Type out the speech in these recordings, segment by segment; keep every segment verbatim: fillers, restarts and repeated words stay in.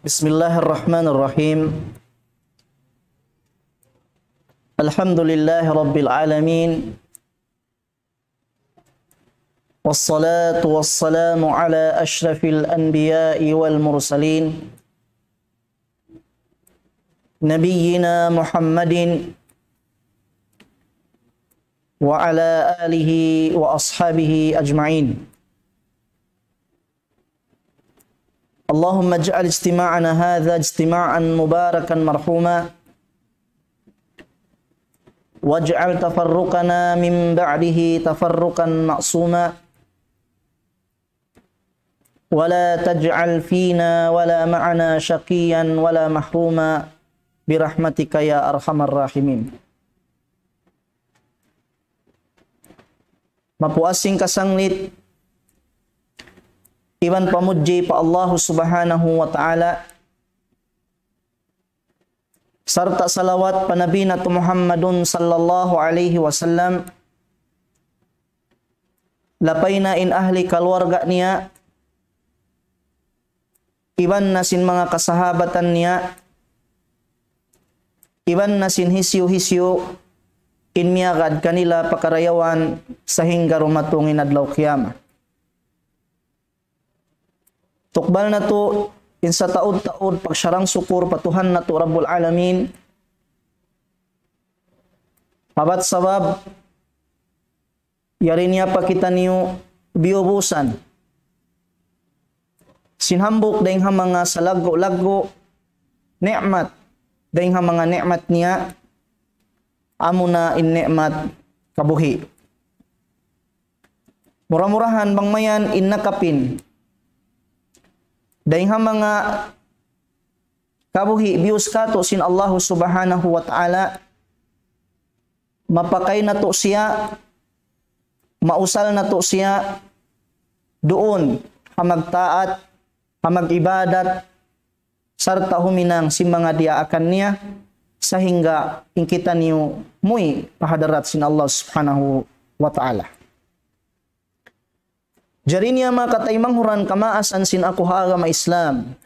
بسم الله الرحمن الرحيم. الحمد لله رب العالمين. والصلاة والسلام على أشرف الأنبياء والمرسلين، نبينا محمد وعلى آله وأصحابه أجمعين. اللهم اجعل اجتماعنا هذا اجتماعا مباركا مرحوما، واجعل تفرقنا من بعده تفرقا معصوما، ولا تجعل فينا ولا معنا شقيا ولا محروما، برحمتك يا أرحم الراحمين. Mapuas sin kasanglit iban pamudji pa Allahu Subhanahu wa Ta'ala, sarta' salawat pa Nabi natu' Muhammadun sallallahu alayhi wasallam, lapay na in ahli kaluarga niya, iban na sin manga kasahabatan niya, iban na sin hisiyu-hisiyu in miyagad kanila pa karayawan sahingga dumatung in adlaw kiyamat. Tukbal natu' in sataud-taud pagsarang-sukur pa Tuhan natu' Rabbul Alamin. Abat sabab, yari niya pa kitaniyu biyubusan sin hambuuk dayn ha manga salaggu'-laggu' ni'mat, dayn ha manga ni'mat niya, amuna in ni'mat kabuhi'. Mura-murahan bang mayan in nakapin dayn ha manga kabuhi' biyus katu' sin Allahu Subhanahu wa Ta'ala, mapakay natu' siya, mausal natu' siya duun ha magtaat, ha mag-ibadat, sarta' huminang sin manga diyaakan niya, sahingga in kitaniyu muwi' pa hadarat sin Allah Subhanahu wa Ta'ala. Jari niya manga kataymanghuran kamaasan sin aku ha agama Islam,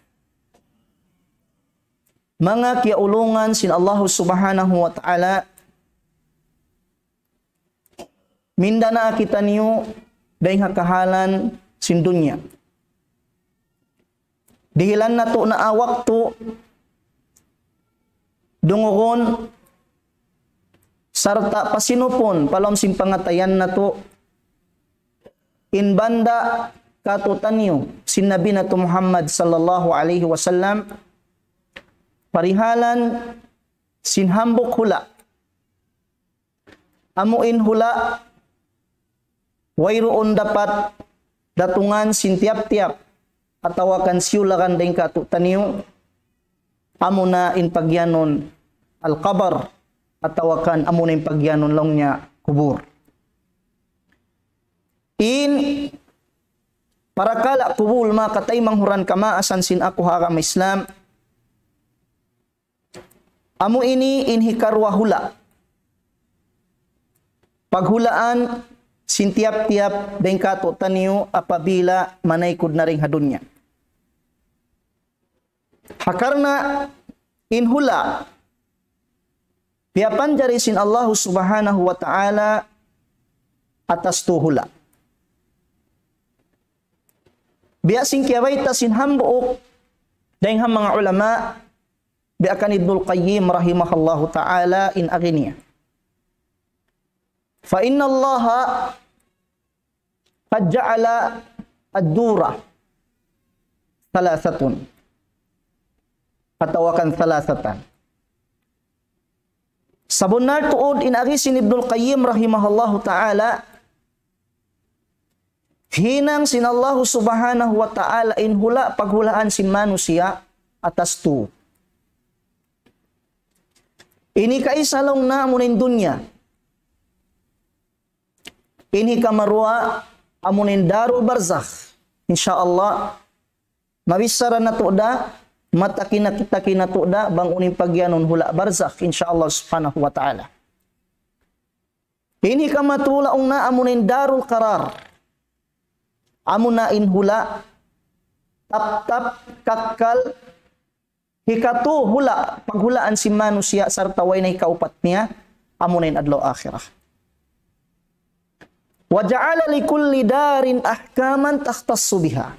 manga kiyaulungan sin Allahu Subhanahu wa Ta'ala, minda na kitaniyu dayn ha kahalan sin dunya. Dihilan natu' na waktu dungugun sarta' pasinupun pa lawm sin pangatayan natu' in banda' katu'taniyu sin Nabi natu' Muhammad sallallahu alayhi wasallam, parihalan sin hambuuk hula'. Amu in hula' wayruun dapat datungan sin tiyap-tiyap atawa kan siyulakan dayn katu'taniyu, amuna in pagiyanun al-qabr, atawa kan amuna in pagiyanun laung niya kubul. In parakala' kubul manga kataymanghuran kamaasan sin aku ha agama Islam, amu ini in hikaruwa hula'. Paghulaan sin tiyap-tiyap dayn katu'taniyu apabila manaykud na dayn ha dunya. Ha karna' in hula' piyapanjari sin Allahu Subhanahu wa Ta'ala atas tū hula'. Biya' sin kiyabayta' sin hambuuk dayn ha manga ulama, biya' kan Ibnul Qayyim rahimahullahu ta'ala in agi niya. فإن الله قد جعل الدور ثلاثة. Atawa kan ثلاثة. Sabunnal tuud in agi sin Ibnul Qayyim rahimahullahu ta'ala, hinang sin Allahu Subhanahu wa Ta'ala in hula' paghulaan sin manusiya' atas tū. Ini kaisa laung niya amuna in dunya. Ini kamaruwa amuna in darul barzakh. Insya Allah, mabichara natu' da, mataki na kita kinatu' da, bang unu in pagiyanun hula' barzakh, insya Allah subhanahu wa ta'ala. Ini kamatula ungna amuna in darul qarar. Amuna in hula', taptap, kakkal, Hikatu hula', paghulaan sin manusiya' sarta' way na hikaupat niya, amuna in adlaw akhirat. وجعل لكل دار أحكاما تختص بها.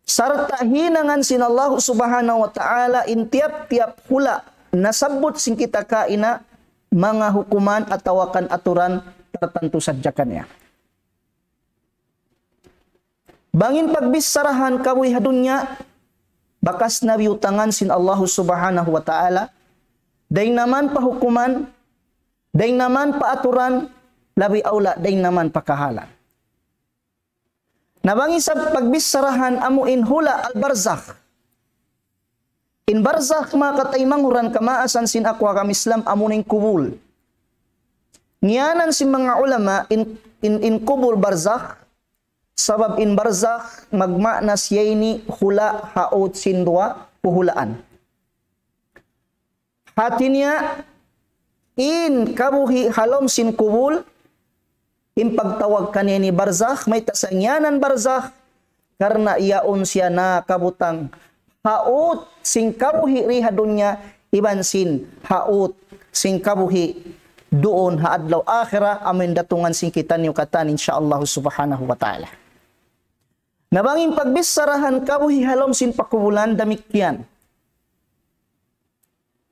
Sarta' hinangan sin Allah Subhanahu wa Ta'ala in tiyap-tiyap hula' nasabbut sin kita kaina manga hukuman atawa kan aturan tartantu sadja kaniya. Bang in pagbicharahan kabuhi' ha dunya, bakas na biyutangan sin Allah Subhanahu wa Ta'ala, dayn naman pa hukuman, dayn naman pa aturan, labi awla dayn naman pa kahalan. Na bang isab pagbicharahan amu in hula' al-barzakh. In barzakh, manga kataymanghuran kamaasan sin aku ha agama Islam, amuna in kubul. Ngiyanan sin manga ulama in, in, in kubul barzakh, sabab in barzakh magmaana siya ini hula' haut sin duwa puhulaan. Hati niya, in kabuhi' ha lawm sin kubul, in pagtawag kaniya ini barzakh, mayta' sa ngiyanan barzakh, karna' yaun siya nakabutang haut sin kabuhi' di ha dunya, iban sin haut sin kabuhi' duun ha adlaw akhirat, amun datungan sin kitaniyu katan, insya Allah Subhanahu wa Ta'ala. Na bang in pagbicharahan kabuhi' ha lawm sin pakubulan, damikkiyan.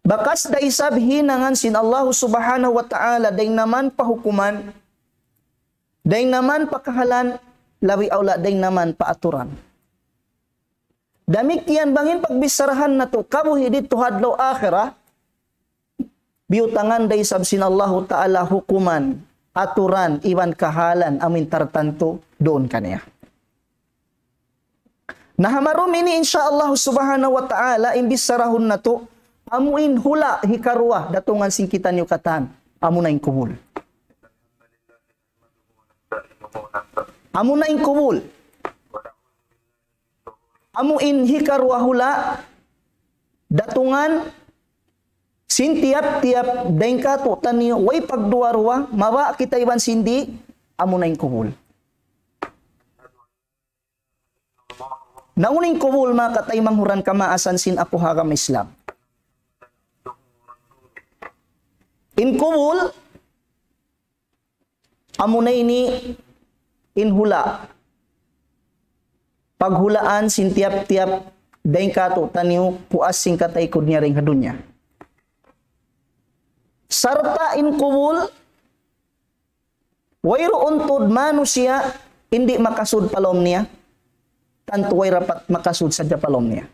Bakas da isab hinangan sin Allah Subhanahu wa Ta'ala, dayn naman pa hukuman, dayn naman pa kahalan, labi awla dayn naman pa aturan. Damikkiyan bang in pagbicharahan natu' kabuhi' didtu ha adlaw akhirat, biyutangan da isab sin Allahu Ta'ala hukuman, aturan, iban kahalan, amun tartantu duun kaniya. Na ha marum ini, insya Allah Subhanahu wa Ta'ala, in bicharahun natu', amu in hula' hikaruwa, datungan sin kitaniyu katan, amuna in kubul. Amuna in kubul. Amu in hikaruwa hula', datungan sin tiyap-tiyap dayn kātu'niyu, way pagduwa-ruwa, mabaya' kita iban sin di', amuna in kubul. Na unu in kubul, manga kataymanghuran kamaasan sin aku ha agama Islam. In kubul, amuna ini in hula'. Paghulaan sin tiyap-tiyap dayn kātu'niyu puas sin kataykud niya dayn ha dunya. Sarta' in kubul, wayruun tuud manusiya' in di' makasud pa lawm niya, tantu way rapat makasud sadja pa lawm niya.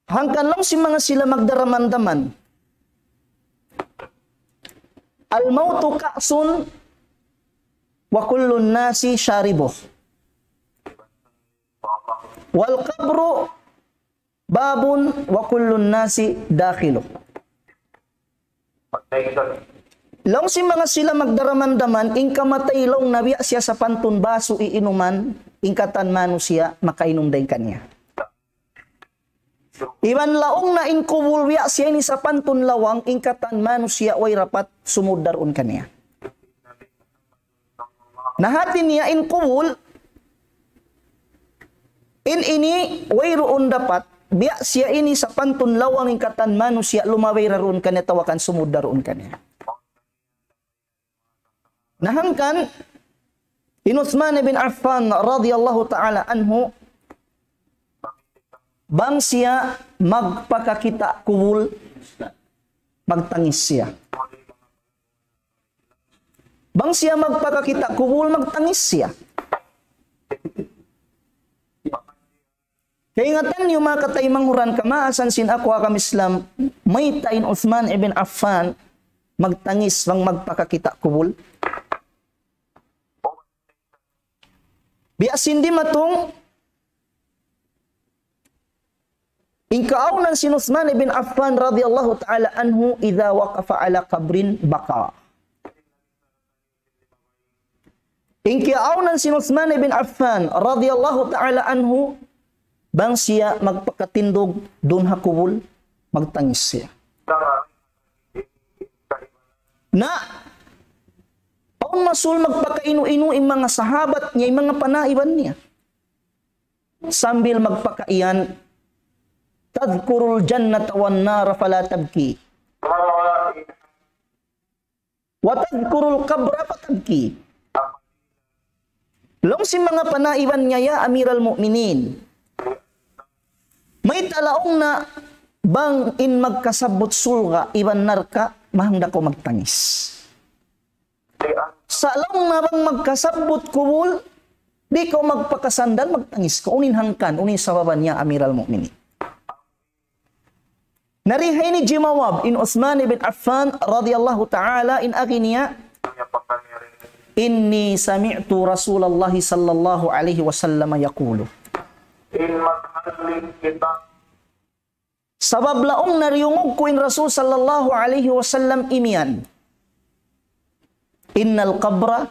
Hangkan laung sin manga sila magdaramandaman, الموت كأس وكل الناس شاربه، والقبر باب وكل الناس داخله. Laung sin manga sila magdaramandaman, in kamatay laung niya biya' siya sapantun basu iinuman, in katan manusiya' makainum dayn kaniya. Iban laung niya in kubul biya' siya ini sapantun lawang, in katan manusiya' way rapat sumud duun kaniya. Na hati niya in kubul, in ini wayruun dapat, biya' siya ini sapantun lawang, in katan manusiya' lumabay duun kaniya atawa kan sumud duun kaniya. Na hangkan, in Uthman ibn Affan radiyallahu ta'ala anhu, bang siya magpakakita' kubul, magtangis siya. Bang siya magpakakita' kubul, magtangis siya. Kaingatan niyu, manga kataymanghuran kamaasan sin aku ha agama Islam, mayta' in Uthman ibn Affan magtangis bang magpakakita' kubul? Biya' sin dimatung, in kaawnan sin Uthman ibn Affan radiyallahu ta'ala anhu, إذا وقف على قبر بكى. In kiyaawnan sin Uthman ibn Affan radiyallahu ta'ala anhu, bang siya magpakatindug duun ha kubul, magtangis siya. Na, awn masul magpakainu-inu in manga sahabat niya, in manga panaiban niya. sambil magpakaiyan, تذكر الجنة والنار فلا تبكي وتذكر القبر فتبكي. Laung sin manga panaiban niya, ya Amiral Mu'minin, mayta' laung na bang in magkasabbut surga' iban narka', mahang da kaw magtangis. Sa' laung na bang magkasabbut kubul, di' kaw magpakasandal, magtangis kaw. Unu in hangkan, unu in sababan niya, Amiral Mu'minin? Na dayn ha ini jimawab in Uthman ibn Affan radiyallahu ta'ala, in agi niya, إني سمعت رسول الله صلى الله عليه وسلم يقول. In maghalin kita. Sabab laung na diyungug ku in Rasul sallallahu alayhi wasallam imiyan. إن القبر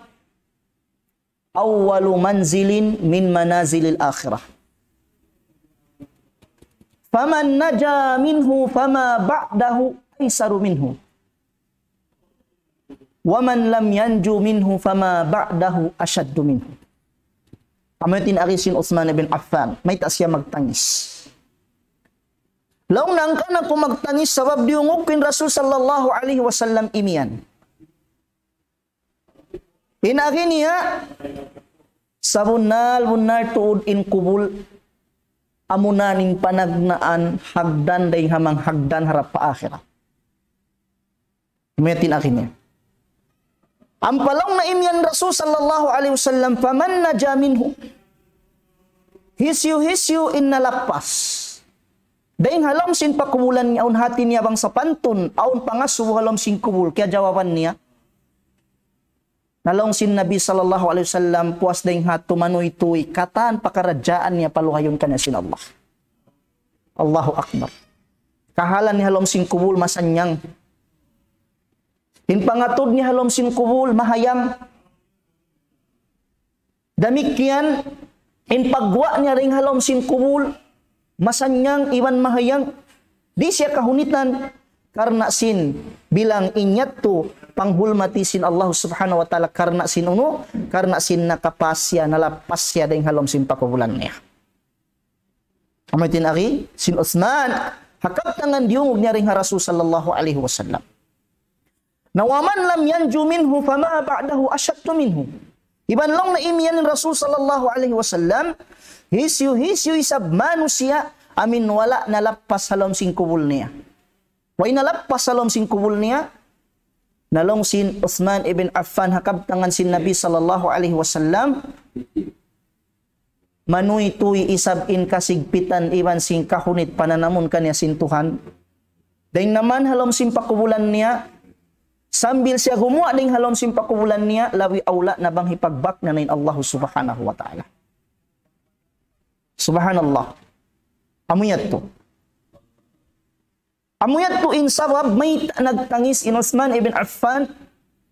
أول منزل من منازل الآخرة. فمن نجا منه فما بعده أيسر منه. ومن لم ينج منه فما بعده أشد منه. Amu yadtu in agi sin Uthman ibn Affan, mayta' siya magtangis. Laung niya, hangkan aku magtangis sabab diyungug ku in Rasul sallallahu alayhi wasallam imiyan. In agi niya, sabunnal-bunnal tuud in kubul, amuna in panagnaan hagdan dayn ha manga hagdan harap pa akhirat. Amu yadtu in agi niya. Ampa laung na imiyan Rasul sallallahu alayhi wasallam, فمن نجا منه. Hisiyu-hisiyu in nalappas dayn ha lawm sin pakubulan niya, awn hati niya bang sapantun, awn pangasubu ha lawm sin kubul, kiyajawaban niya. Na laung sin Nabi sallallahu alayhi wasallam, puas dayn ha tumanuytuy, katan pakaradjaan niya paluhayun kaniya sin Allah. Allahu Akbar. Kahalan niya ha lawm sin kubul masannyang. In pangatud niya ha lawm sin kubul mahayang. Damikkiyan, in pagguwa' niya dayn ha lawm sin kubul, masannyang iban mahayang, di' siya kahunitan, karna' sin bilang in yadtu panghulmati sin Allah subhanahu wa ta'ala, karna' sin unu, karna' sin nakapas siya, nalappas siya dayn ha lawm sin pakubulan niya. Amu yadtu in agi sin Uthman, ha kabtangan diyungug niya dayn ha Rasul sallallahu alayhi wasallam. Na ومن لم ينج منه فما بعده أشد منه. Iban laung na imiyan in Rasul sallallahu alayhi wasallam, hisiyu-hisiyu isab manusiya' amu in wala' nalappas ha lawm sin kubul niya. Way nalappas ha lawm sin kubul niya, na laung sin Uthman ibn Affan ha kabtangan sin Nabi sallallahu alayhi wasallam, manuytuy isab in kasigpitan iban sin kahunit pananamun kaniya sin Tuhan. Dayn naman ha lawm sin pakubulan niya, sambil siya gumuwa' dayn ha lawm sin pakubulan niya, labi awla na bang hipagbak na in Allah subhanahu wa ta'ala. Subhanallah. Amu yadtu. Amu yadtu in sabab mayta' nagtangis in Uthman ibn Affan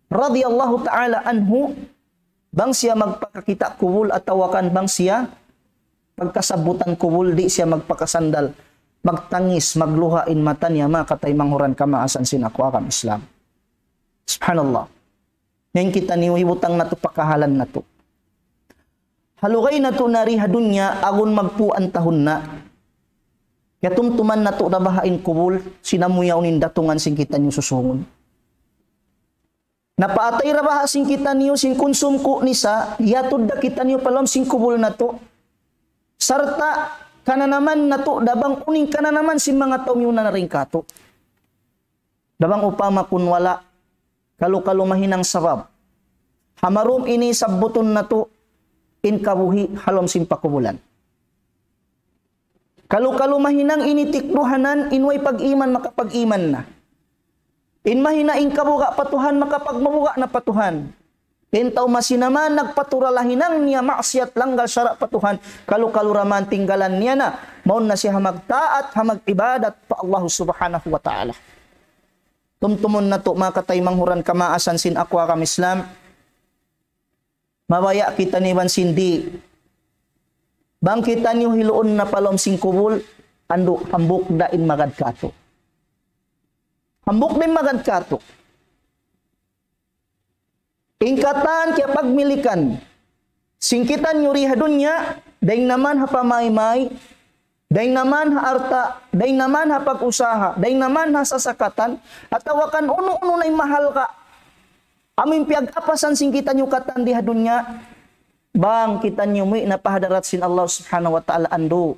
radiyallahu ta'ala anhu, bang siya magpakakita' kubul atawa kan bang siya pagkasabbutan kubul, di' siya magpakasandal, magtangis, magluha' in mata niya, manga kataymanghuran kamaasan sin aku agama Islam. Subhanallah. Ngayon kitaniyu hibutang natu' pakahalan natu'. Ha lugay natu' na di ha dunya, agun magpū' in tahun na. Kiyatumtuman natu' da baha' in kubul, sin amu yaun in datungan sin kitaniyu susungun. Na paatay da baha' sin kitaniyu, sin kunsum ku nisa, hiyatud da kitaniyu pa lawm sin kubul natu'. Sarta' kananaman natu' da bang unu in kananaman sin manga tau miyuna na dayn kātu'. Da bang upama kun wala', kalu-kalu mahinang sabab. Ha marum ini sabbutun natu' in kabuhi' ha lawm sin pakubulan. Kalu-kalu mahinang ini tikduhanan, in way pag-iman makapag-iman na. In mahina in kabuga' pa Tuhan, makapagmabuga' na pa Tuhan. In tau masinaman nagpatura lahinang niya maksiyat, langgal sara' pa Tuhan, kalu-kalu da man tinggalan niya na, mawn na siya ha magtaat, ha mag-ibadat pa Allah subhanahu wa ta'ala. Tumtumun natu' manga kataymanghuran kamaasan sin aku agama Islam. Mabaya' kitaniyu iban sin di'. Bang kitaniyu hiluun na pa lawm sin kubul, andu' hambuuk da in magad kātu'. Hambuuk da in magad kātu'. In katan kiyapagmilikan sin kitaniyu di ha dunya, Dayn naman ha pamaymay, dayn naman ha alta', dayn naman ha pag-usaha, dayn naman ha sasakatan, atawa kan unu-unu na in mahalga'. Amu in piyag-apasan sin kitaniyu katan di ha dunya, bang kitaniyu muwi' na pa hadarat sin Allah Subhanahu wa Ta'ala andu'.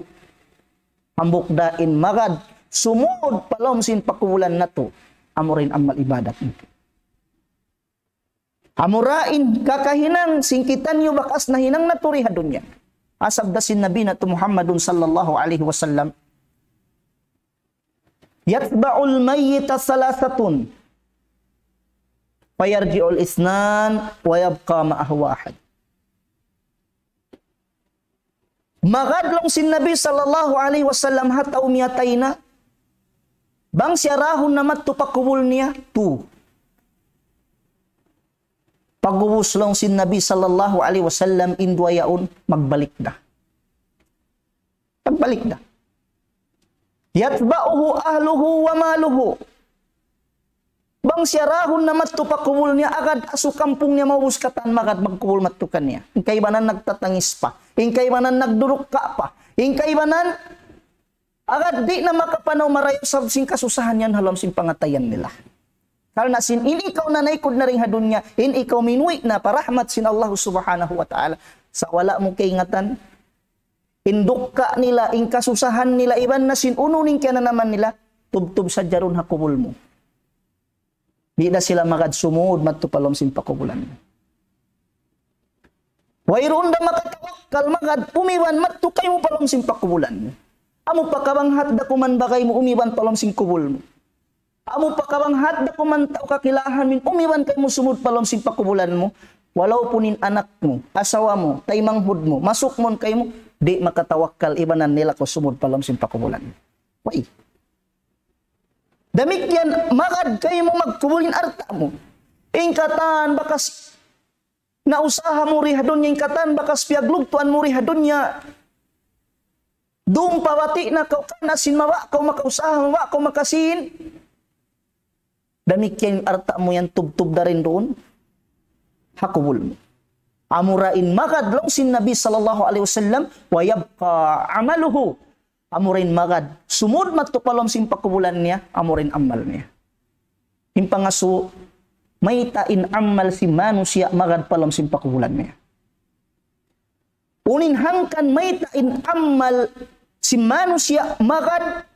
Hambuuk da in magad sumud pa lawm sin pakubulan natu', amura in amal ibadat natu'. Amura in kakahinang sin kitaniyu bakas nahinang natu' di ha dunya. Sabda sin Nabi natu' Muhammadun sallallahu alayhi wasallam, يتبع الميت ثلاثة فيرجع اثنان ويبقى معه واحد. Magad laung sin Nabi sallallahu alayhi wasallam ha tau miyatay na, bang siya dahun na madtu pa kubul niya, tu. Pag'ubus laung sin Nabi sallallahu alayhi wasallam in duwa yaun, magbalik da. Magbalik da. يتبعه أهله وماله. Bang siya dahun na madtu pa kubul niya, agad asu kampung niya maubus katan magad magkubul madtu kaniya. In kaibanan nagtatangis pa. In kaibanan nagdurukka pa. In kaibanan agad di' na makapanaw marayaw sabab sin kasusahan yan ha lawm sin pangatayan nila. Karna' sin in ikaw na naikud na dayn ha dunya, in ikaw minuwi' na pa rahmat sin Allah Subhanahu wa Ta'ala. Sa' wala' mu kaingatan, in dukka nila, in kasusahan nila, iban na sin unu in kiyananaman nila, tubtub sadja duun ha kubul mu. Di' da sila magad sumud madtu pa lawm sin pakubulan. Wayruun da makatawakkal magad umiban madtu kaymu pa lawm sin pakubulan. Amu pa kabanghat da kuman bagay mu umiban pa lawm sin kubul mu. Amu pa kabanghat da kuman tau kakilahan mu in umiban kaymu sumud pa lawm sin pakubulan mu. Walaupun in anak mu, asawa mu, taymanghud mu, masukmon kaymu, di' makatawakkal ibanan nila kaw sumud pa lawm sin pakubulan. Way. Damikkiyan magad kaymu magkubul in alta' mu. In katan bakas nausaha mu di ha dunya, in katan bakas piyaglugtuan mu di ha dunya. Duun pa bati' na kaw karna' sin mawa' kaw makausaha, mawa' kaw makasīn. Damikkiyan in alta' mu yan tubtub da rin duun ha kubul mu. Amura in magad laung sin Nabi sallallahu alayhi wasallam, ويبقى عمله. Amura in magad sumud madtu pa lawm sin pakubulan niya, amura in amal niya. In pangasubu, mayta' in amal sin manusiya' magad pa lawm sin pakubulan niya. Unu in hangkan mayta' in amal sin manusiya' magad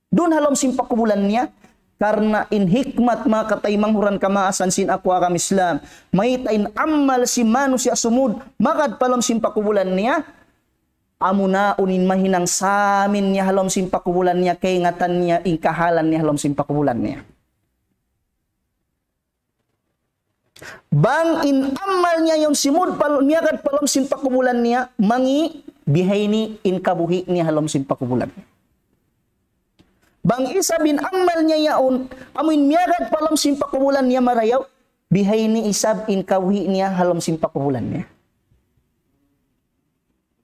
duun ha lawm sin pakubulan niya, karna' in hikmat manga kataymanghuran kamaasan sin aku agama Islam, mayta' in amal sin manusiya' sumud magad pa lawm sin pakubulan niya, amuna unu in mahinang samin niya ha lawm sin pakubulan niya, kaingatan niya, in kahalan niya ha lawm sin pakubulan niya. Bang in amal niya yaun simud pa, miyagad pa lawm sin pakubulan niya, mangi', bihaini in kabuhi' niya ha lawm sin pakubulan. Bang isab in amal niya yaun, amu in miyagad pa lawm sin pakubulan niya marayaw, bihaini isab in kabuhi' niya ha lawm sin pakubulan niya.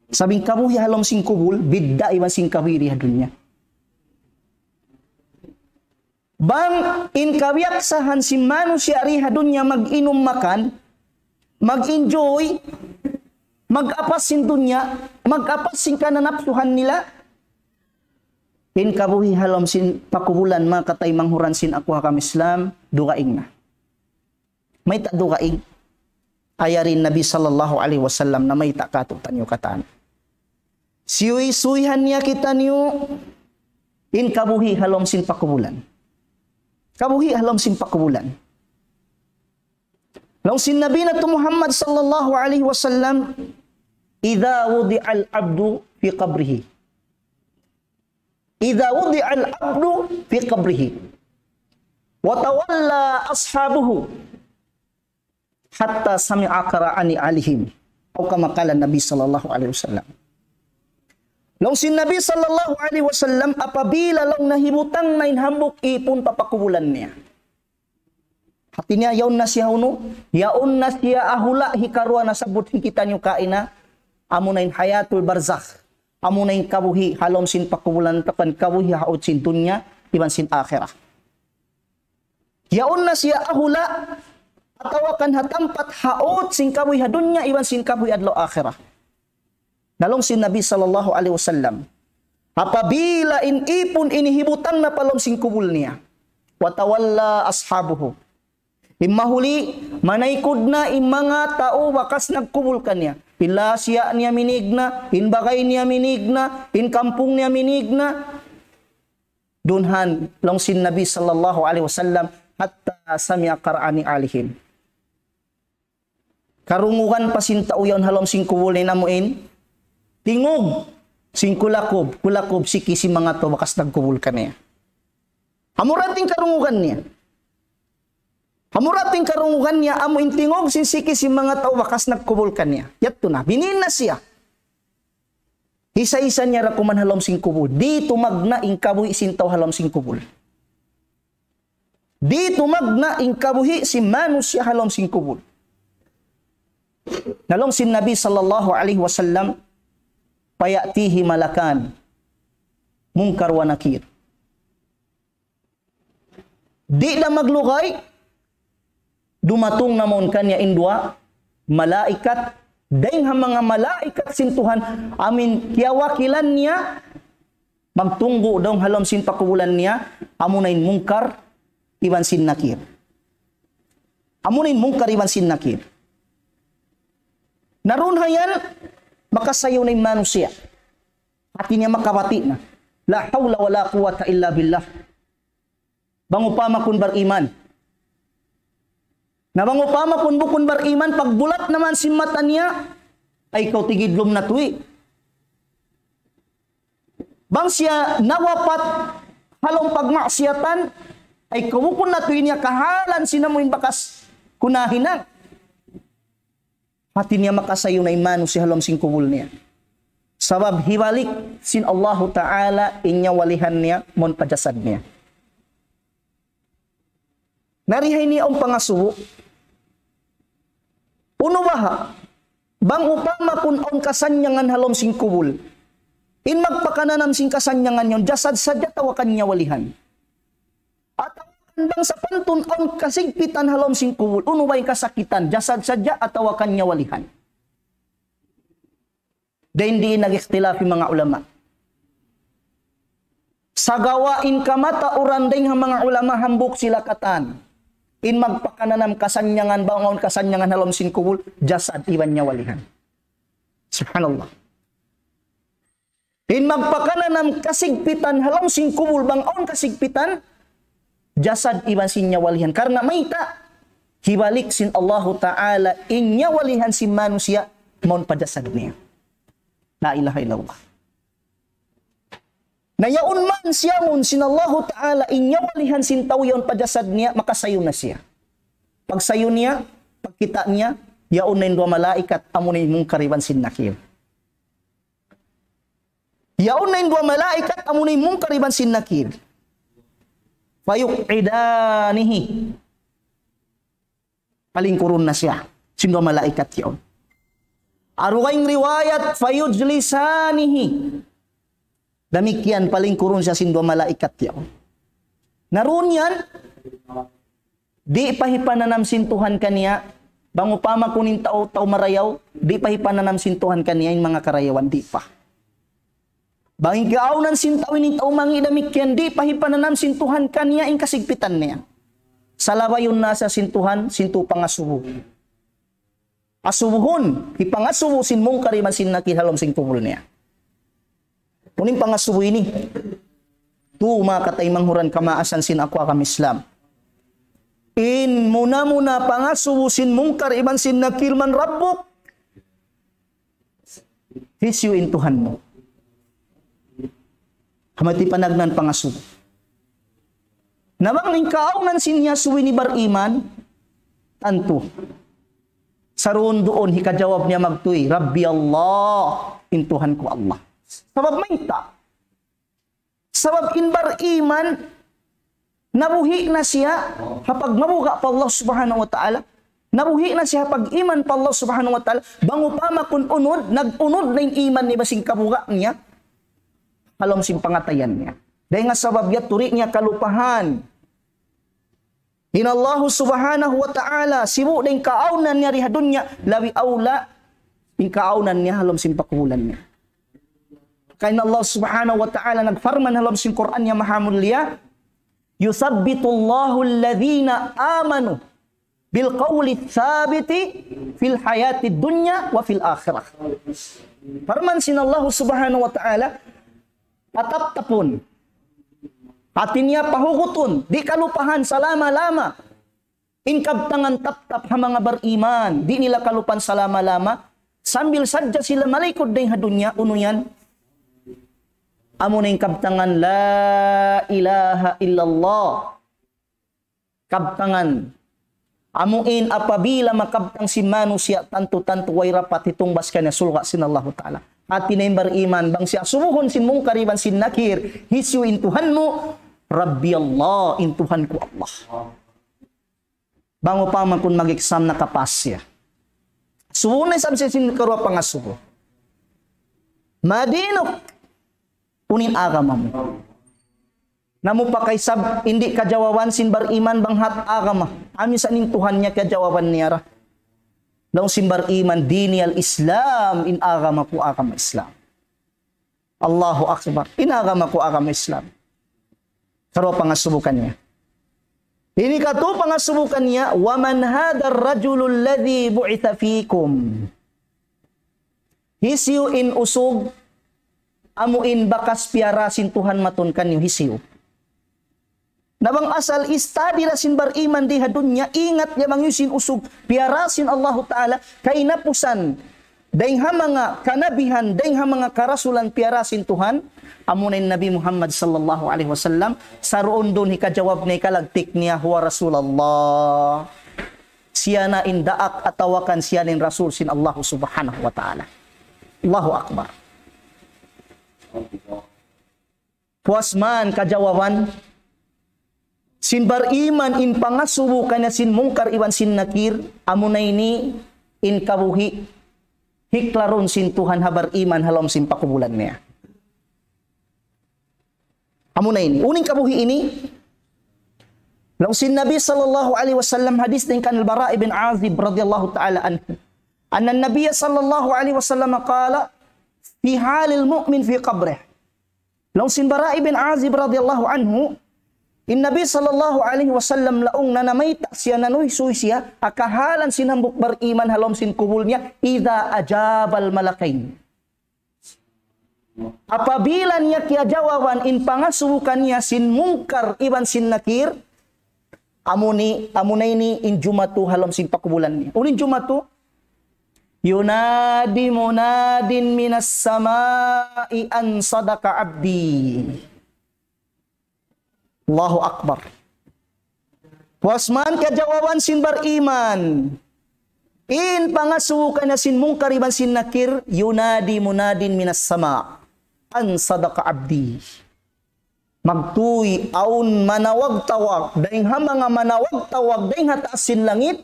Sabab in kabuhi' ha lawm sin kubul, bidda' iban sin kabuhi' di ha dunya. Bang in kabiyaksahan sin manusiya' di ha dunya mag-inum makan, mag-enjoy, mag-apas sin dunya, mag-apas sin kananapsuhan nila, in kabuhi' ha lawm sin pakubulan manga kataymanghuran sin aku agama Islam, dugaing na. Mayta' dugaing? Ayari in Nabi sallallahu alayhi wasallam namayta' kātu'niyu katan. Siyuysuyihan niya kitaniyu in kabuhi' ha lawm sin pakubulan. Kabuhi' ha lawm sin pakubulan. Laung sin Nabi natu' Muhammad sallallahu alayhi wasallam, إذا وضع العبد في قبره إذا وضع العبد في قبره وتولى أصحابه حتى سمع قرع نعالهم أو كما قال النبي صلى الله عليه وسلم. Laung sin Nabi sallallahu alayhi wasallam, apabila laung nahibutang na in hambuuk ipun pa pakubulan niya. Hāti niya, yaun na siya unu, yaun na siya ha hula' hikaruwa nasabbut sin kitaniyu kaina, amuna in hayatul barzakh, amuna in kabuhi' ha lawm sin pakubulan, atawa kan kabuhi' ha ut sin dunya, iban sin akhirat. Yaun na siya ha hula', atawa kan ha tampat ha ut sin kabuhi' ha dunya, iban sin kabuhi' adlaw akhirat. Na laung sin Nabi sallallahu alayhi wasallam, apabila in ipun ini hibutang na pa lawm sin kubul niya, وتولى أصحابه. In mahuli, manaykud na in manga tau bakas nagkubul kaniya. In lasiya niya minīg na, in bagay niya minīg na, in kampung niya minīg na. Dunhan, laung sin Nabi sallallahu alayhi wasallam, حتى سمع قرع نعالهم. Karungugan pa sin tau yaun ha lawm sin kubul niya amu in tingug sin kulakub, kulakub, siki sin manga tau bakas nagkubul kaniya. Amura in karungugan niya. Amura in karungugan niya, amu in tingug sin siki sin manga tau bakas nagkubul kaniya. Yadtu na, binin na siya. Hisa-hisa niya ra kuman ha lawm sin kubul. Di' tumagna' in kabuhi' sin tau ha lawm sin kubul. Di' tumagna' in kabuhi' sin manusiya' ha lawm sin kubul. Na laung sin Nabi sallallahu alayhi wasallam, فيأتيه ملكان منكر ونكير. Di' da maglugay, dumatung na mawn kaniya in duwa malaikat, dayng ha manga malaikat sin Tuhan, amu in kiyawakilan niya, magtunggu' dayng ha lawm sin pakubulan niya, amuna in Munkar iban sin Nakir. Amuna in Munkar iban sin Nakir. Na duun ha yan, makasayu na in manusiya'. Hati niya makabati' na. لا حول ولا قوة إلا بالله. Bang upama kaw bariman. Na bang upama kaw bukun bariman, pagbulat na man sin mata niya, ay kaw tigidlum na tuwi. Bang siya nawapat ha lawm pagmaksiyatan, ay kaw bukun na tuwi niya kahalan sin amu in bakas kaw nahinang. Hati niya makasayu na in manusiya' ha lawm sin kubul niya. Sabab hibalik sin Allahu Ta'ala in nyawalihan niya mawn pa jasad niya. Na di ha ini awn pangasubu. Unu baha', bang upama kaw awn kasannyangan ha lawm sin kubul, in magpakananam sin kasannyangan yaun, jasad sadja atawa kan nyawalihan. Atawa kan bang sapantun awn kasigpitan ha lawm sin kubul, unu ba in kasakitan, jasad sadja atawa kan nyawalihan. Dayn di nag-ikhtilaf in manga ulama. Sagawa' in kamatauran dayn ha manga ulama hambuuk sila katan. In magpakananam kasannyangan, bang awn kasannyangan ha lawm sin kubul, jasad iban nyawalihan. Subhanallah. In magpakananam kasigpitan ha lawm sin kubul bang awn kasigpitan, jasad iban sin nyawalihan. Karna' mayta', hibalik sin Allahu Ta'ala in nyawalihan sin manusiya' mawn pa jasad niya. La ilaha illallah. Na yaun man siyamun sin Allahu Ta'ala in nyawalihan sin tau yaun pa jasad niya, makasayu na siya. Pagsayu niya, pagkita' niya, yaun na in duwa malaikat, amu na in Munkar iban sin Nakir. Yaun na in duwa malaikat, amu na in Munkar iban sin Nakir. فيقعدانه. Palingkurun na siya sin duwa malaikat yaun. Ha dugaing riwayat, فيجلسانه. Damikkiyan palingkurun siya sin duwa malaikat yaun. Na duun yan, di' pa hipananam sin Tuhan kaniya, bang upama kaw in tau, tau marayaw, di' pa hipananam sin Tuhan kaniya in manga karayawan, di' pa. Bang in kaawnan sin tau ini tau mangi' damikkiyan, di' pa hipananam sin Tuhan kaniya in kasigpitan niya. Salabayun na siya sin Tuhan, sin tū pangasubu. Asubuhun, hipangasubu sin Munkar iban sin Nakir ha lawm sin kubul niya. Unu in pangasubu ini? Tū, manga kataymanghuran kamaasan sin aku agama Islam. In muna-muna pangasubu sin Munkar iban sin Nakir, من ربك. Hisiyu in Tuhan mu? Amu yadtu in panagnaan pangasubu. Na bang in kaawnan sin iyasubu ini bariman, tantu. Saruun-duun hikajawab niya magtūy, ربي الله, in Tuhan ku Allah. Sabab mayta'? Sabab in bariman, nabuhi' na siya ha pagmabuga' pa Allah Subhanahu wa Ta'ala. Nabuhi' na siya ha pag-iman pa Allah Subhanahu wa Ta'ala. Bang upama kaw unud, nag-unud na in iman niya iban sin kabuga' niya ha lawm sin pangatayan niya. Dayn ha sabab yadtu di' niya kalupahan in Allah Subhanahu wa Ta'ala, sibu' da in kaawnan niya di ha dunya, labi awla in kaawnan niya ha lawm sin pakubulan niya. Karna' Allah Subhanahu wa Ta'ala nagparman ha lawm sin Qur'an niya maha mulia, يثبت الله الذين آمنوا بالقول الثابت في الحياة الدنيا وفي الآخرة. Parman sin Allah Subhanahu wa Ta'ala, pataptapun. Hati niya pahugutun, di' kalupahan salama-lama. In kabtangan taptap ha manga bariman, di' nila kalupahan salama-lama, sambil sadja sila malaykud dayn ha dunya, unu yan? Amu na in kabtangan, لا إله إلا الله. Kabtangan. Amu in apabila makabtang sin manusiya', tantu-tantu way dapat hitungbas kaniya surga' sin Allahu Ta'ala. Hati niya in bariman, bang siya asubuhun sin Munkar iban sin Nakir, hisiyu in Tuhan mu? ربي الله, in Tuhan ku Allah. Bang upama kunu' mag-exam nakapas siya. Subu na isab siya sin karuwa pangasubu. ما دينك. Unu in agama mu. Na mu pa kaisab, di' kajawaban sin bariman bang hat agama. Amu sa in Tuhan niya kajawaban niya ra. Laung sin bariman, ديني الإسلام, in agama ku agama Islam. Allahu Akbar. In agama ku agama Islam. Karuwa pangasubu kaniya. Ini katu pangasubu kaniya, ومن هذا الرجل الذي بعث فيكم. Hisiyu in usug, amu in bakas piyara sin Tuhan matun kaniyu hisiyu. Na bang asal study da sin bariman di ha dunya, ingat niya bang hisiyu in usug piyara sin Allahu Ta'ala, kahinapusan, dayn ha manga kanabihan, dayn ha manga karasulan piyara sin Tuhan, amu na in Nabi Muhammad sallallahu alayhi wasallam, saruun-duun hikajawab niya, hikalagtik niya, هو رسول الله. Siya na in daak atawa kan siya na in Rasul sin Allah Subhanahu wa Ta'ala. Allahu Akbar. Puas man kajawaban sin bariman in pangasubu kaniya sin Munkar iban sin Nakir, amu na ini in kabuhi' hiklarun sin Tuhan ha bariman ha lawm sin pakubulan niya. Amu na ini. Unu in kabuhi' ini? Laung sin Nabi sallallahu alayhi wasallam, hadith dayn kan Al-Bara' ibn Azib radiyallahu ta'ala anhu. أن النبي صلى الله عليه وسلم قال في حال المؤمن في قبره. Laung sin Bara' ibn Azib radiyallahu anhu, in Nabi sallallahu alayhi wasallam laung niya namayta' siya, nanuysuy siya, ha kahalan sin hambuuk bariman ha lawm sin kubul niya, إذا أجاب الملكين. Apabila niya kiyajawaban in pangasubu kaniya sin Munkar iban sin Nakir, amu ini, amu na ini in jumatu ha lawm sin pakubulan niya. Unu in jumatu? ينادي مناد من السماء أن صدق عبدي. Allahu Akbar. Puas man kajawaban sin bariman in pangasubu kaniya sin Munkar iban sin Nakir, ينادي مناد من السماء أن صدق عبدي. Magtuy awn manawag-tawag dayn ha manga manawag-tawag dayn ha taas sin langit.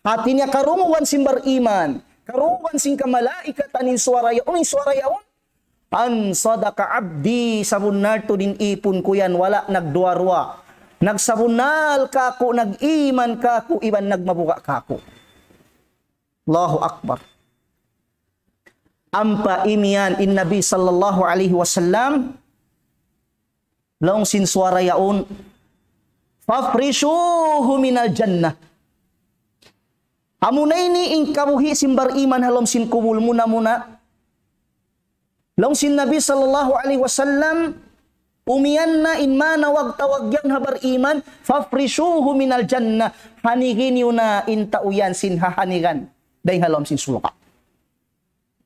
Hati niya karungugan sin bariman, karungugan sin kamalaikatan in suwara yaun, in suwara yaun. أن صدق عبدي, sabunnal tuud in ipun ku yan, wala' nagduwa-ruwa. Nagsabunnal kāku', nag-iman kāku', iban nagmabuga' kāku'. Allahu Akbar. Ampa imiyan in Nabi sallallahu alayhi wasallam, laung sin suwara yaun, فافرشوه من الجنة. Amu na ini in kabuhi' sin bariman ha lawm sin kubul muna-muna. Laung sin Nabi sallallahu alayhi wasallam, umiyan na in manawag-tawag yan ha bariman, فافرشوه من الجنة. Hanigi niyu na in tau yan sin hahanigan dayn ha lawm sin surga'.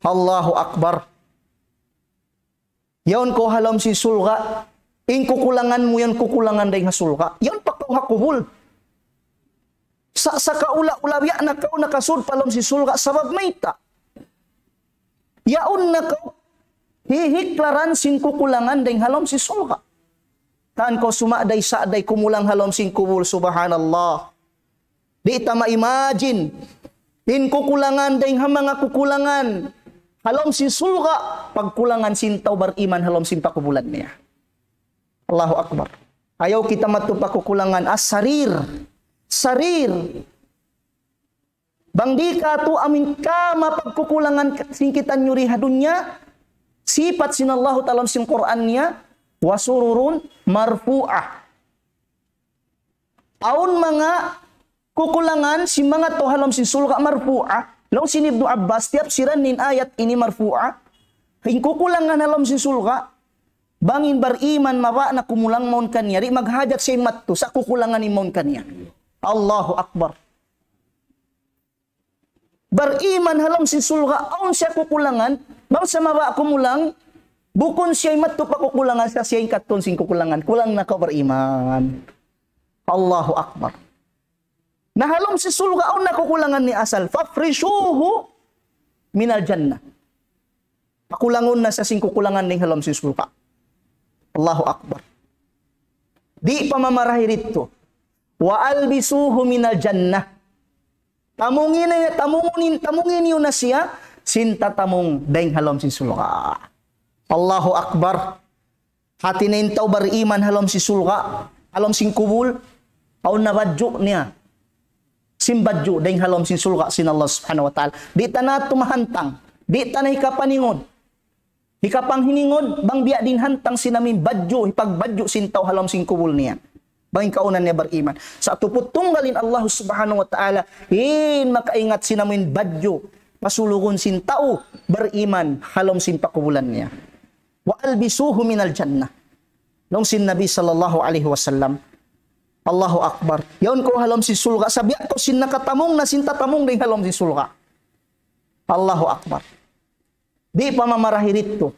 Allahu Akbar. Yaun kaw ha lawm sin surga', in kukulangan mu yan kukulangan dayn ha surga'. Yaun pa kaw ha kubul. Sa, sa kaula-ula, biya' na kaw nakasud pa lawm sin surga', sabab mayta'? Yaun na kaw hihiklaran sin kukulangan dayn ha lawm sin surga'. Tan kaw suma'day-sa'day kumulang ha lawm sin kubul, subhanallah. Di' ta ma-imagine in kukulangan dayn ha manga kukulangan ha lawm sin surga', pagkulangan sin tau bariman ha lawm sin pakubulan niya. Allahu Akbar. Ayaw kita madtu pa kukulangan. As-sarir. Sarir. Bang di' katu' amin kama pagkukulangan sin kitaniyu di ha dunya, Sipat sin Allahu Ta'ala ha lawm sin Qur'an niya, وسرر مرفوعة. Awn manga kukulangan sin manga tau ha lawm sin surga' marfu'a. Laung sin Ibnu Abbas, tiyapsiran niya in ayat ini marfu'a. In kukulangan ha lawm sin surga', bang in bariman mabaya' na kumulang mawn kaniya, di' maghajat siya mattu sa' kukulangan in mawn kaniya. Allahu Akbar. Bariman ha lawm sin surga', awn siya kukulangan, bang sa mabaya' kumulang, bukun siya in mattu pa kukulangan, sa' siya in kattun sin kukulangan, kulang na kaw bariman. Allahu Akbar. Na ha lawm sin surga', awn na kukulangan niya asal. فافرشوه من الجنة. Pakulangun na sa' sin kukulangan dayn ha lawm sin surga'. Allahu Akbar. Di' pa mamarahi didtu. وألبسوه من الجنة. Tamungi na, tamungi, tamungi niyu na siya, sin tatamung dayn ha lawm sin surga'. Allahu Akbar. Hati niya in tau bariman ha lawm sin surga', ha lawm sin kubul, awn na badju' niya. Sin badju' dayn ha lawm sin surga' sin Allah Subhanahu wa Ta'ala. Di' ta na tumahantang, di' ta na hikapaningud. Hikapanghiningud, bang biya' diin hantang sin amin badju', hipagbadju' sin tau ha lawm sin kubul niya. Bang in kaunan niya bariman. Sa' tuput tunggal in Allah Subhanahu wa Ta'ala, in makaingat sin amin badju', pasulugun sin tau bariman ha lawm sin pakubulan niya. وألبسوه من الجنة. Laung sin Nabi sallallahu alayhi wasallam. Allahu Akbar. Yaun kaw ha lawm sin surga', sa' biya' kaw sin nakatamung na sin tatamung dayn ha lawm sin surga'. Allahu Akbar. Di' pa mamarahi didtu.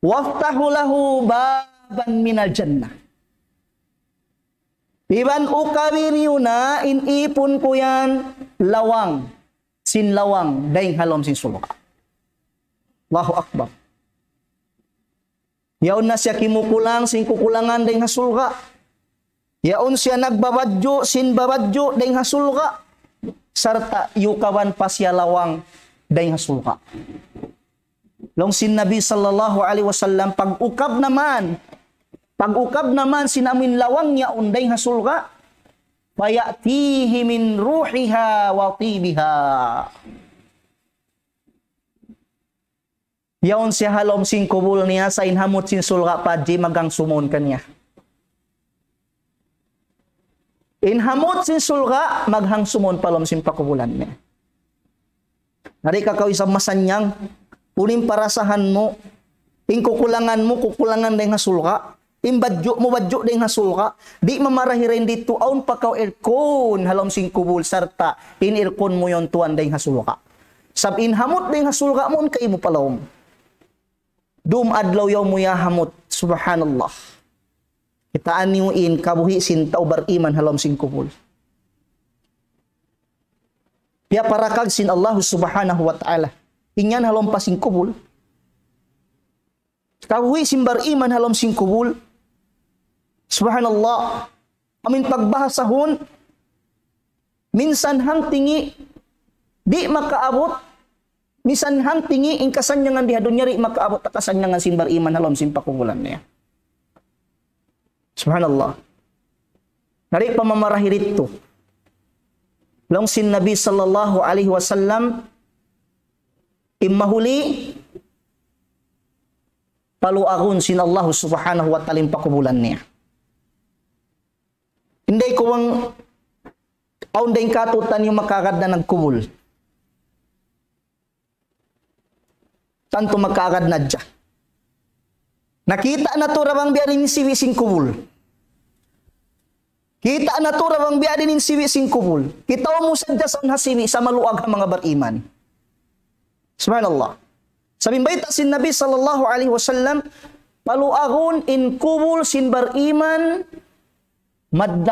وافتحوا له بابا من الجنة. Iban ukabi niyu na in ipun ku yan lawang, sin lawang, dayn ha lawm sin surga'. Allahu Akbar. Yaun na siya kimukulang sin kukulangan dayn ha surga'. Yaun siya nagbabadju' sin babadju' dayn ha surga'. Sarta' yukaban pa siya lawang dayn ha surga'. Laung sin Nabi sallallahu alayhi wasallam, pag-ukab na man, pag-ukab na man sin amin lawang yaun dayn ha surga', فيأتيه من روحها وطيبها. Yaun siya ha lawm sin kubul niya, sa' in hamut sin surga' pa hadji maghangsumun kaniya. In hamut sin surga' maghangsumun pa lawm sin pakubulan niya. Na di' ka kaw isab masannyang, unu in parasahan mu, in kukulangan mu, kukulangan dayn ha surga'. In badju' mu, badju' dayn ha surga'. Di' mamarahi dayn didtu, awn pa kaw aircon ha lawm sin kubul, sarta' in aircon mu yaun tuwan dayn ha surga'. Sab in hamut dayn ha surga' mawn kaymu pa lawm. Dum adlaw yaun mu ya hamut. Subhanallah. Kitaa niyu in kabuhi' sin tau bariman ha lawm sin kubul. Piyaparakag sin Allah Subhanahu wa Ta'ala. In yan ha lawm pa sin kubul. Kabuhi' sin bariman ha lawm sin kubul. Subhanallah. Amin pagbahasahun, minsan hangtingi, di' makaabut, minsan hangtingi, in kasannyangan di ha dunya di' makaabut, ha kasannyangan sin bariman ha lawm sin pakubulan niya. Subhanallah. Na di' pa mamarahi didtu. Laung sin Nabi sallallahu alayhi wasallam, in mahuli, paluagun sin Allah Subhanahu wa Ta'ala in pakubulan niya. Inday ku bang awn dayn kātu'niyu makaagad na nagkubul. Tantu makaagad na hadja. Na kita' natu' ra bang biya' diin in sibi' sin kubul. Kita' natu' ra bang biya' diin in sibi' sin kubul. Kita' mu sadja sa' ha sibi' sa' maluag ha manga bariman. Subhanallah. Sabab bayta' sin Nabi sallallahu alayhi wasallam, paluagun in kubul sin bariman مد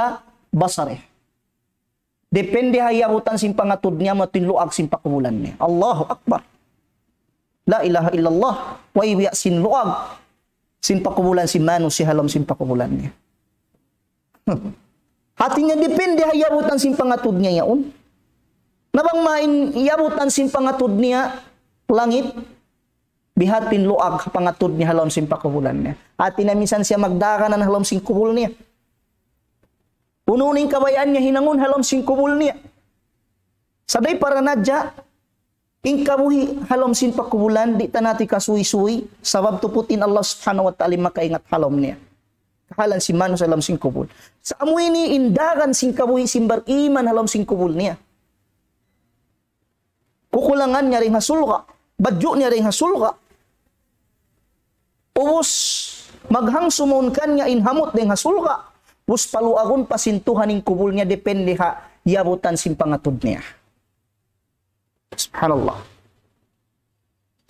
بصره. Depende ha iyabutan sin pangatud niya, amu in luag sin pakubulan niya. Allahu Akbar. La ilaha illallah. Way biya' sin luag sin pakubulan sin manusiya' ha lawm sin pakubulan niya. Hati niya depende ha iyabutan sin pangatud niya yaun. Na bang mayan iyabutan sin pangatud niya langit, bihatin luag pangatud niya ha lawm sin pakubulan niya. Hati niya minsan siya magdaganan ha lawm sin kubul niya. Unu in kabayaan niya hinangun ha lawm sin kubul niya. Sa' di' para na hadja, In kabuhi' ha lawm sin pakubulan, di' ta natu' kasuysuy, sabab tuput in Allah Subhanahu wa Ta'ala makaingat ha lawm niya. Kahalan sin manusiya' ha lawm sin kubul. Sa' amu ini in dagan sin kabuhi' sin bariman ha lawm sin kubul niya. Kukulangan niya dayn ha surga', badju' niya dayn ha surga'. Ubus, maghangsu mawn kaniya in hamut dayn ha surga'. Ubus paluagun pa sin Tuhan in kubul niya, depende ha iyabutan sin pangatud niya. Subhanallah.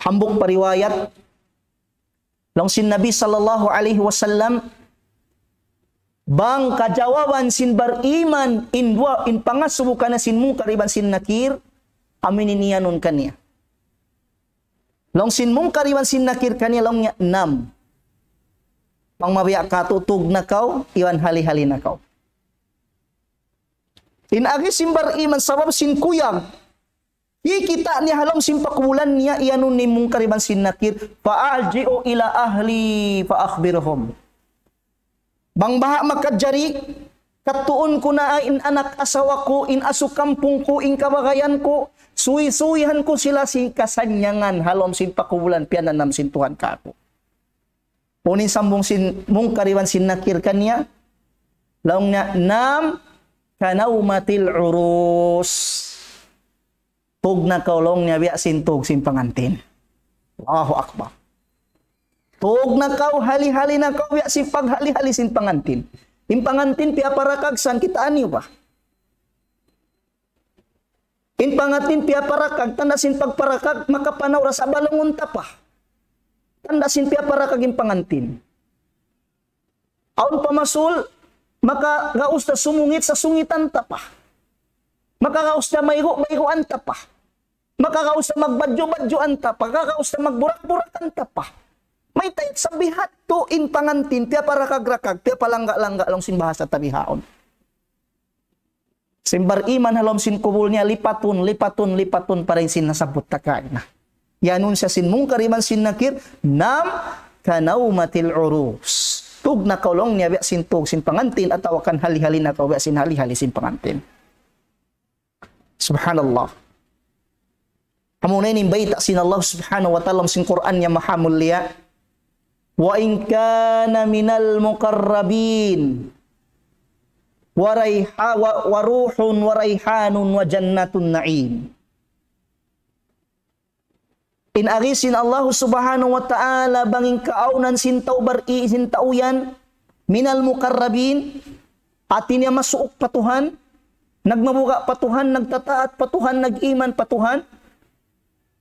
Hambuuk pa riwayat, laung sin Nabi sallallahu alayhi wasallam, bang kajawaban sin bariman in duwa, in pangasubu kaniya sin Munkar iban sin Nakir, amu in iyanun kaniya. Laung sin Munkar iban sin Nakir kaniya, laung niya, "Nam. Bang mabiya' katu', tug na kaw, iban hali-hali na kaw." In agi sin bariman sabab sin kuyag. Kikita' niya ha lawm sin pakubulan niya, iyanun ni Munkar iban sin Nakir, "فأرجع إلى أهلي فأخبرهم." Bang baha' makajari, katuun ku na in anak asawa ku, in asu kampung ku, in kabagayan ku, suysuyihan ku sila sin kasannyangan ha lawm sin pakubulan piyananam sin Tuhan kāku'. Unu in sambung sin Munkar iban sin Nakir kaniya, laung niya, "نم كنومة العروس." Tug na kaw, laung niya, biya' sin tug sin pangantin. Allahu Akbar. Tug na kaw, hali-hali na kaw, biya' sin paghali-hali sin pangantin. In pangantin piyaparakag, san, kitaa niyu ba? In pangantin piyaparakag, tanda' sin pagparakag, makapanaw da sa' balungun ta pa. Tanda' sin piyaparakag in pangantin. Awn pa masul, makagaus da sumungit sa' sungitan ta pa. Makagaus da maygu', mayguan ta pa. Makagaus da magbadju', badjuan ta pa. Makagaus da magburak-burakan ta pa. Mayta' sa' biha' tu in pangantin, piyaparakag-rakag, piyapalangga'-langga' laung sin bahasa ta bihaun. Sin bariman ha lawm sin kubul niya lipatun, lipatun, lipatun pa dayn sin nasabbut ta kaina. Iyanun siya sin Munkar iban sin Nakir, "نم كنومة العروس." Tug na kaw, laung niya, biya' sin tug sin pangantin, atawa kan hali-hali na kaw biya' sin hali-hali sin pangantin. Subhanallah. Amuna ini in bayta' sin Allah Subhanahu wa Ta'ala sin Qur'an niya maha mulia. وإن كان من المقربين وريح-، و-، وروح وريحان وجنة نعيم. In agi sin Allah Subhanahu wa Ta'ala bang in kaawnan sin tau bari-, sin tau yan, من المقربين, hati niya masuuk pa Tuhan, nagmabuga' pa Tuhan, nagtataat pa Tuhan, nag-iman pa Tuhan,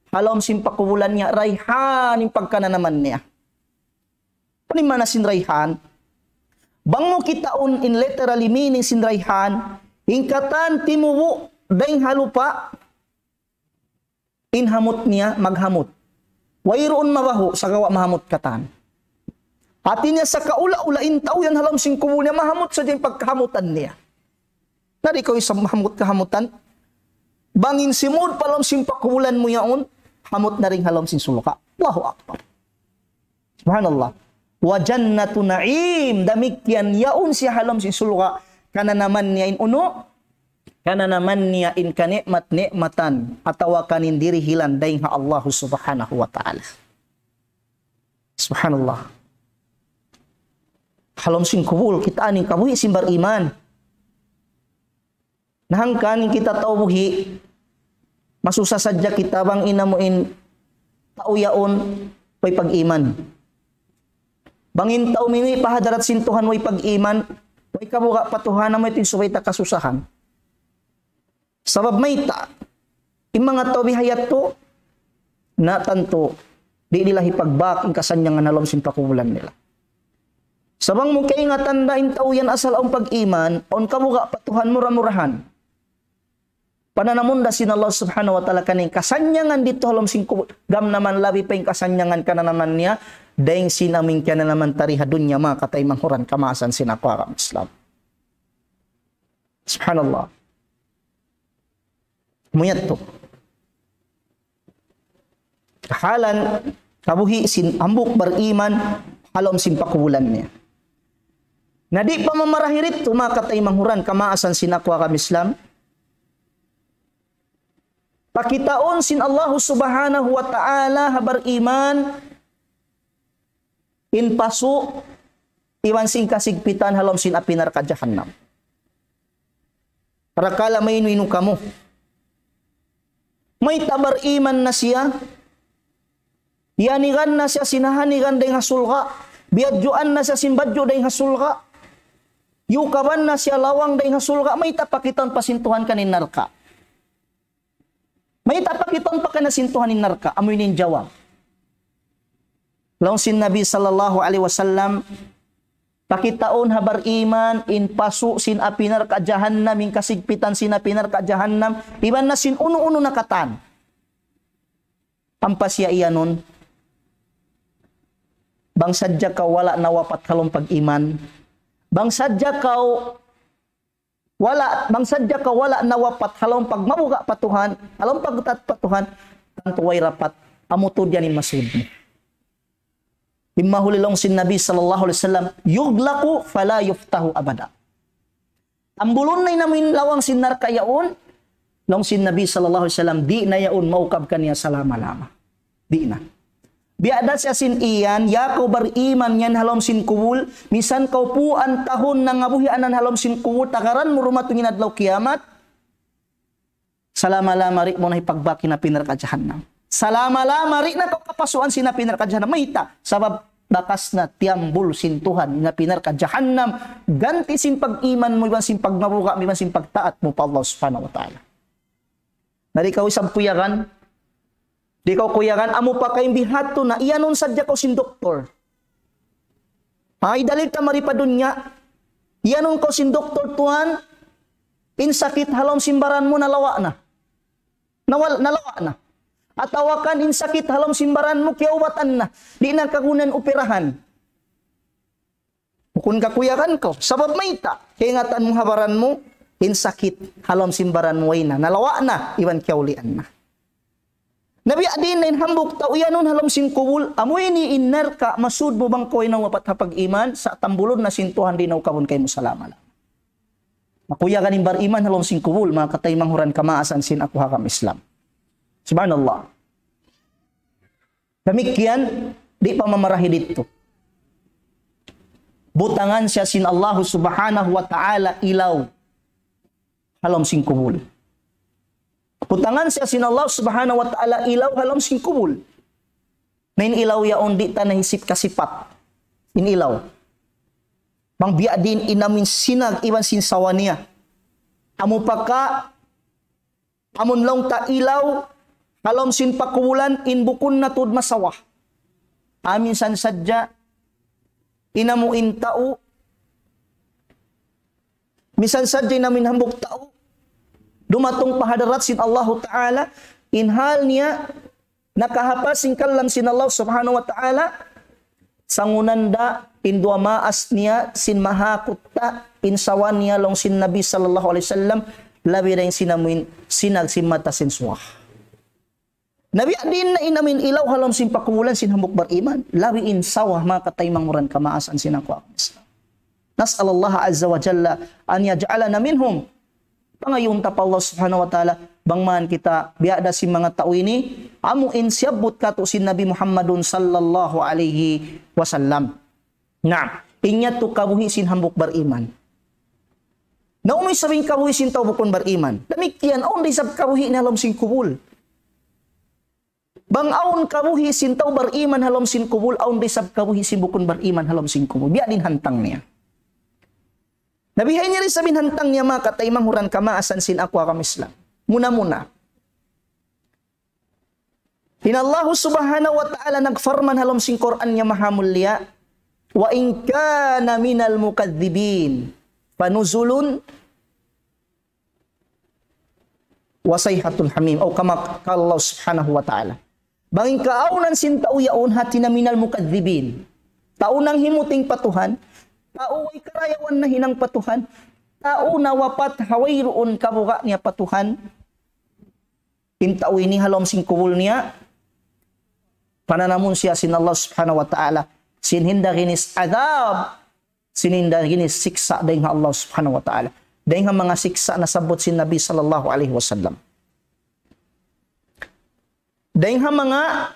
ha lawm sin pakubulan niya, rayhan in pagkananaman niya. Unu in maana sin rayhan? Bang mu kitaun in literally meaning sin rayhan, in katan timubu' dayn ha lupa', in hamut niya maghamut. Wayruun mabahu', sagawa' mahamut katan. Hati niya sa' kaula-ula in tau yan ha lawm sin kubul niya, mahamut sadja in pagkahamutan niya. Na di' kaw isab mahamut kahamutan. Bang in simud pa lawm sin pakubulan mu yaun, hamut na dayn ha lawm sin surga'. Allahu Akbar. Subhanallah. وجنة نعيم, damikkiyan yaun siya ha lawm sin surga', kananaman niya in unu, kananaman niya in kanikmat-nikmatan, atawa kan in dirihilan dayn ha Allah Subhanahu wa Ta'ala. Subhanallah. Ha lawm sin kubul, kitaa in kabuhi' sin bariman. Na hangkan in kita tau buhi', masusa sadja kita bang in amu in tau yaun way pag-iman. Bang in tau mimi pa hadarat sin Tuhan way pag-iman, way kabuga' pa Tuhan, amu yadtu in subay ta kasusahan. Sabab mayta', in manga tau biha' yadtu, na tantu, di' nila hipagbak in kasannyangan ha lawm sin pakubulan nila. Sa' bang mu kaingatan da in tau yan asal awn pag-iman, awn kabuga' pa Tuhan, mura-murahan, pananamun da sin Allah Subhanahu wa Ta'ala kaniya in kasannyangan didtu ha lawm sin kubul, gam naman labi pa in kasannyangan kananaman niya, dayn sin amu in kananaman ta di ha dunya, manga kataymanghuran kamaasan sin aku agama Islam. Subhanallah. Amu yadtu. Kahalan kabuhi' sin hambuuk bariman ha lawm sin pakubulan niya. Na di' pa mamarahi didtu, manga kataymanghuran kamaasan sin aku agama Islam. Pakitaun sin Allahu Subhanahu wa Ta'ala ha bariman in pasu' iban sin kasigpitan ha lawm sin api narka' jahannam. Parakala' maynu-inu kamu. Mayta' bariman na siya, iyanigan na siya sin hanigan dayng ha surga', biyadjuan na siya sin badju' dayng ha surga', iyukaban na siya lawang dayng ha surga', mayta' pakitaun pa sin Tuhan kaniya in narka'. Mayta' pakitaun pa kaniya sin Tuhan in narka', amu ini in jawab. Laung sin Nabi sallallahu alayhi wasallam, pakitaun ha bariman in pasu' sin api narka' jahannam, in kasigpitan sin api narka' jahannam, iban na sin unu-unu na katan. Ampa siya iyanun, bang sadja kaw wala' nawapat ha lawm pag-iman, bang sadja kaw wala', bang sadja kaw wala' nawapat ha lawm pagmabuga' pa Tuhan, ha lawm pagtaat pa Tuhan, tantu way rapat, amu tuud yan in masud mu. Imma huli laung sin Nabi sallallahu alayhi wasallam, يغلق فلا يفتح أبدا. Tambulun na in amu in lawang sin narka' yaun, laung sin Nabi sallallahu alayhi wasallam, di' na yaun maukab kaniya salama-lama. Di' na. Biya' da siya sin iyan, ya kaw bariman yan ha lawm sin kubul, misan kaw puan tahun nangabuhi' anan ha lawm sin kubul, tagaran mu dumatung in adlaw kiyamat, salama-lama di' mu na hipagbak in api narka' jahannam. Salama-lama di' na kaw kapasuan sin api narka' jahannam. Mayta'? Sabab bakas na tiyambul sin Tuhan in api narka' jahannam, ganti' sin pag-iman mu, iban sin pagmabuga' mu, iban sin pagtaat mu pa Allah Subhanahu wa Ta'ala. Na di' kaw isab kuyagan, di' kaw kuyagan, amu pa kay in biya' hādtu na, iyanun sadja kaw sin doktor. Ay, dalil ta mari pa dunya, iyanun kaw sin doktor, tuwan, in sakit ha lawm sin baran mu nalawa' na. Nawal-, nalawa' na. Atawa kan in sakit ha lawm sin baran mu kiyaubatan na. Di' na kagunan upirahan. Bukun kakuyagan kaw. Sabab mayta', kaingatan mu ha baran mu, in sakit ha lawm sin baran mu way na. Nalawa' na, iban kiyaulian na. Na biya' diin na in hambuuk tau iyanun ha lawm sin kubul, amu ini in narka', masud mu bang kaw way nawapat ha pag-iman, sa' tambulun na sin Tuhan di' na ukabun kaymu salama-lama. Makuyagan in bariman ha lawm sin kubul, manga kataymanghuran kamaasan sin aku ha agama Islam. Subhanallah. Damikkiyan, di' pa mamarahi didtu. Butangan siya sin Allahu Subhanahu wa Ta'ala ilaw ha lawm sin kubul. Butangan siya sin Allah Subhanahu wa Ta'ala ilaw ha lawm sin kubul. Na in ilaw yaun di' ta nahisip kasipat. In ilaw. Bang biya' diin in amu in sinag iban sin sawa niya. Amu pa ka, amun laung ta ilaw, ha lawm sin pakubulan in bukun na tuud masawa. Amu in san sadja, in amu in tau, misan sadja in amu in hambuuk tau, dumatung pa hadarat sin Allahu Ta'ala, in hal niya, nakahapas sin kalam sin Allah Subhanahu wa Ta'ala, sangunan da in duwa maas niya sin mahakutta in sawa niya laung sin Nabi sallallahu alayhi wasallam, labi da in sin amu in sinag sin mata sin suwa. Na biya' diin na in amu in ilaw ha lawm sin pakubulan sin hambuuk bariman, labi in sawa, manga kataymanghuran kamaasan sin aku ha agama Islam. نسأل الله عز وجل أن يجعلنا منهم. Pangayuun ta pa Allah Subhanahu wa Ta'ala, bang man kita biya' da sin manga tau ini, amu in siyabbut katu' sin Nabi Muhammadun sallallahu alayhi wasallam. Naam, in yadtu kabuhi' sin hambuuk bariman. Na unu isab in kabuhi' sin tau bukun bariman. Damikkiyan, awn da isab kabuhi' niya ha lawm sin kubul. Bang awn kabuhi' sin tau bariman ha lawm sin kubul, awn da isab kabuhi' sin bukun bariman ha lawm sin kubul. Biya' diin hantang niya. Na bihaini da isab in hantang niya, manga kataymanghuran kamaasan sin aku ha agama Islam. Muna-muna. In Allahu Subhanahu wa Ta'ala nagparman ha lawm sin Qur'an niya mahamulliya, وإن كان من المكذبين فنزل وصيحة حميم. أو كما قال الله سبحانه وتعالى. Bang in kaawnan sin tau yaun hati niya من المكذبين. Tau nanghimuting pa Tuhan, tau way karayawan nahinang pa Tuhan, tau nawapat ha wayruun kabuga' niya pa Tuhan. In tau ini ha lawm sin kubul niya, pananamun siya sin Allah Subhanahu wa Ta'ala sin hinda ginis adab, sin hinda ginis siksa' dayn ha Allah Subhanahu wa Ta'ala. Dayn ha manga siksa' nasabbut sin Nabi sallallahu alayhi wasallam. Dayng ha manga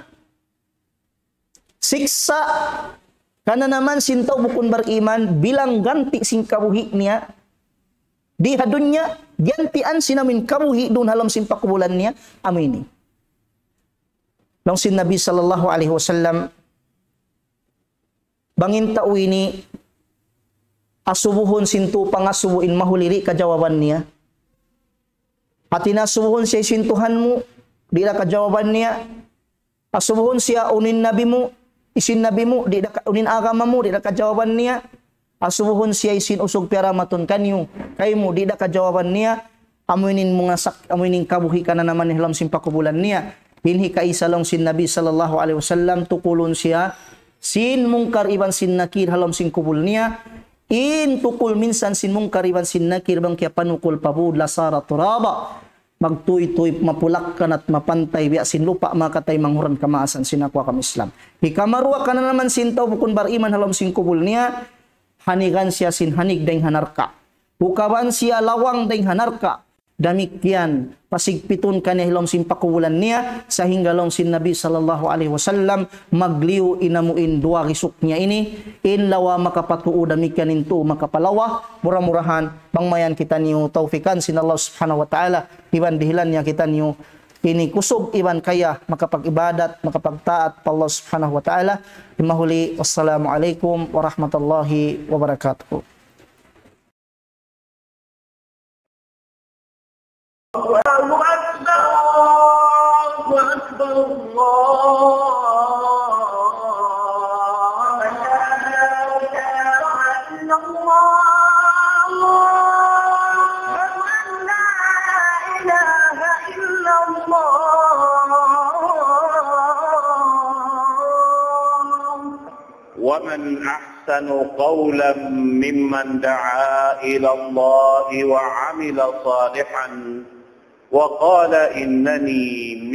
siksa' kananaman sin tau bukun bariman bilang ganti' sin kabuhi' niya di ha dunya, gantian sin amuin kabuhi' duun ha lawm sin pakubulan niya, amu ini. Laung sin Nabi sallallahu alayhi wasallam, bang in tau ini asubuhun sin tū pangasubu in mahuli di' kajawaban niya. Hāti niya asubuhun siya sin Tuhan mu, di' da kajawaban niya. Asubuhun siya unu in nabi mu, hisiyu in nabi mu, di' da ka-, unu in agama mu, di' da kajawaban niya. Asubuhun siya hisiyu in usug piyaramatun kaniyu, kaymu, di' da kajawaban niya. Amu ini in manga sak-, amu ini in kabuhi' kananaman niya ha lawm sin pakubulan niya. In hikaisa laung sin Nabi sallallahu alayhi wasallam, tukulun siya sin Munkar iban sin Nakir ha lawm sin kubul niya. In tukul minsan sin Munkar iban sin Nakir bang kiyapanukul pa būd, لصار ترابا. Magtūy-tūy, mapulak-kanat, mapantay biya' sin lupa' manga kataymanghuran kamaasan sin aku ha agama Islam. Hikaruwa kananaman sin tau bukun bariman ha lawm sin kubul niya, hanigan siya sin hanig dayng ha narka'. Hukaban siya lawang dayng ha narka'. Damikkiyan, pasigpitun kaniya ha lawm sin pakubulan niya, sahingga laung sin Nabi sallallahu alayhi wasallam, magliyu in amu in duwa risuk niya ini, in lawa makapatuu damikkiyan in tuu makapalawa, mura-murahan, bang mayan kitaniyu tawfikan sin Allah subhanahu wa ta'ala, iban dihilan niya kitaniyu ini kusug iban kaya makapag-ibadat, makapagtaat pa Allah subhanahu wa ta'ala. Himahuli, wassalamu alaykum warahmatullahi wabarakatuh. الله أكبر، الله أكبر، الله أكبر. أشهد أن لا إله إلا الله. ومن أحسن قولا ممن دعا إلى الله وعمل صالحا وقال إنني